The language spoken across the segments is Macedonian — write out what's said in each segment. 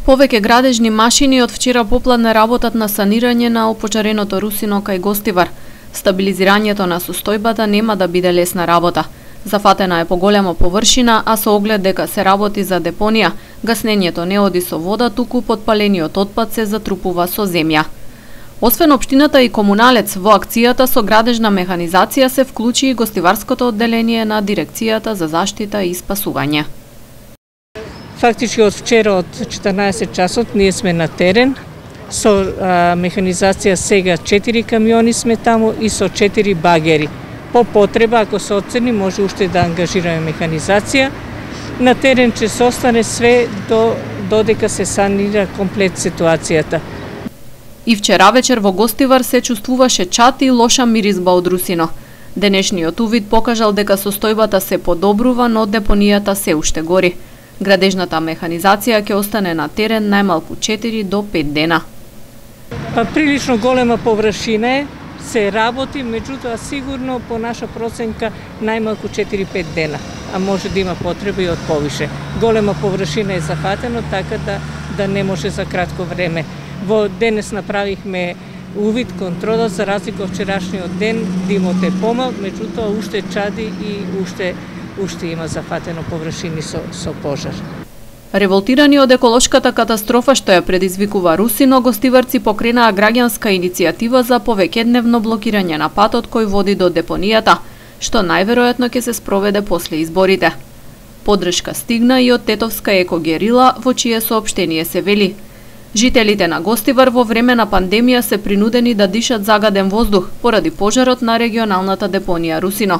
Повеќе градежни машини од вчера попладне работат на санирање на опожареното Русино кај Гостивар. Стабилизирањето на состојбата нема да биде лесна работа. Зафатена е поголема површина, а со оглед дека се работи за депонија, гаснењето не оди со вода, туку потпалениот отпад се затрупува со земја. Освен општината и комуналец, во акцијата со градежна механизација се вклучи и гостиварското одделение на Дирекцијата за заштита и спасување. Фактички од вчера од 14 часот ние сме на терен. Со механизација сега 4 камиони сме таму и со 4 багери. По потреба, ако се оцени, може уште да ангажираме механизација. На терен ќе се остане све додека се санира комплет ситуацијата. И вчера вечер во Гостивар се чувствуваше чат и лоша миризба од Русино. Денешниот увид покажал дека состојбата се подобрува, но депонијата се уште гори. Градежната механизација ќе остане на терен најмалку 4 до 5 дена. Прилично голема површина е, се работи, меѓутоа сигурно по наша проценка најмалку 4-5 дена, а може да има потреба и од повише. Голема површина е зафатено, така да не може за кратко време. Во денес направихме увид, контрола, за разлика од вчерашниот ден, димот е помал, меѓутоа уште чади и уште има зафатено површини со пожар. Револтирани од еколошката катастрофа што ја предизвикува Русино, гостиварци покренаа граѓанска иницијатива за повеќедневно блокирање на патот кој води до депонијата, што најверојатно ќе се спроведе после изборите. Поддршка стигна и од тетовска екогерила, во чие соопштение се вели: жителите на Гостивар во време на пандемија се принудени да дишат загаден воздух поради пожарот на регионалната депонија Русино.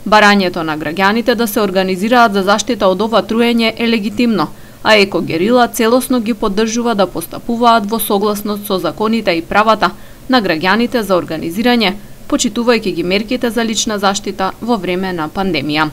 Барањето на граѓаните да се организираат за заштита од ова труење е легитимно, а екогерила целосно ги поддржува да постапуваат во согласност со законите и правата на граѓаните за организирање, почитувајќи ги мерките за лична заштита во време на пандемија.